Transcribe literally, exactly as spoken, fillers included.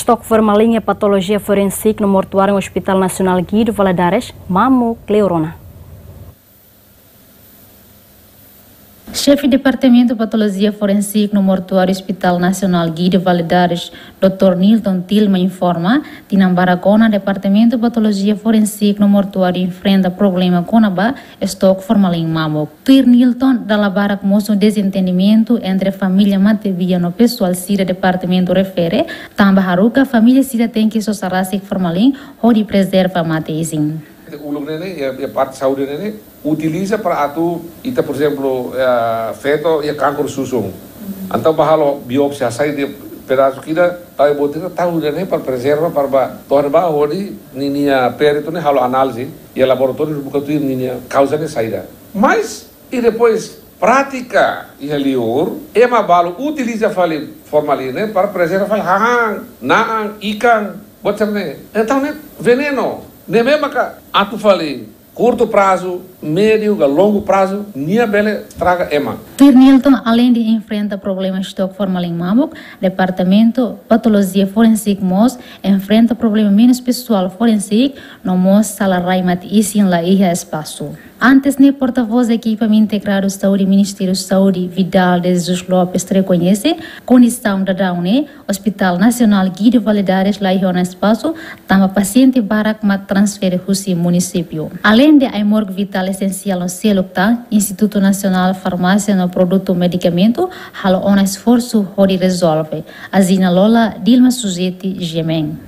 Estoque formalin iha patolojia forensik no mortuáriu Hospital Nasionál Guido Valadares mamuk liu rona. Xefe Departamentu Patolojia Forensik no Mortuáriu Hospital Nasionál Guido Valadares, doutór Nilton Tilma informa, tinan barak ona Departamentu Patolojia Forensik no Mortuáriu enfrenta problema kona-ba estoque formalin mamuk. Tuir Nilton, dala barak mosu dezentendimentu entre família matebian no pesoál sira departamentu refere, tanba haruka família sira tenke sosa rasik formalin hodi prezerva mate-isin. Uluk ne'e ne'e, iha, iha parte saúde ne'e ne'e, utiliza para atu, ita, por ezemplu, eh, feto iha kanker susun. Entaun bá halo biópsia, hasai de'it pedasu ida, tau iha botir, tau iha ne'e para prezerva, para bá, to'o bá hodi ninia peritu ne'e halo análize, iha laboratóriu buka tuir ninia kauza ne'e saida. Mas, i depois, prátika iha liur, ema balu utiliza fali formalin ne'e para prezerva fali hahán, na'an, ikan, buat sira-ne'e. Entaun ne'e venenu, ne'ebé maka atu fali kurtu prazu, médiu ka longu prazu, nia bele estraga ema. Tuir Nilton, aleinde enfrenta problema estoque formalin mamuk, Departamentu Patolojia Forensik mós enfrenta problema menus pesoál forensik, no mós sala rai mate-isin la iha espasu. Antes ne'e, portavós ekipa integradu saúde Ministériu Saúde, Vidal de Jesus Lopes, rekoñese kondisaun daudaun ne'e Hospital Nasionál Guido Valadares la iha ona espasu, tanba pasiente barak mak transfere husi munisípiu. Aleinde ai-morgue vitál esensiál no seluk tan, Institutu Nasionál Farmásia no Produtu Medikamentu halo ona esforsu hodi rezolve. Azina Lola, Dilma Suzeti, G M N.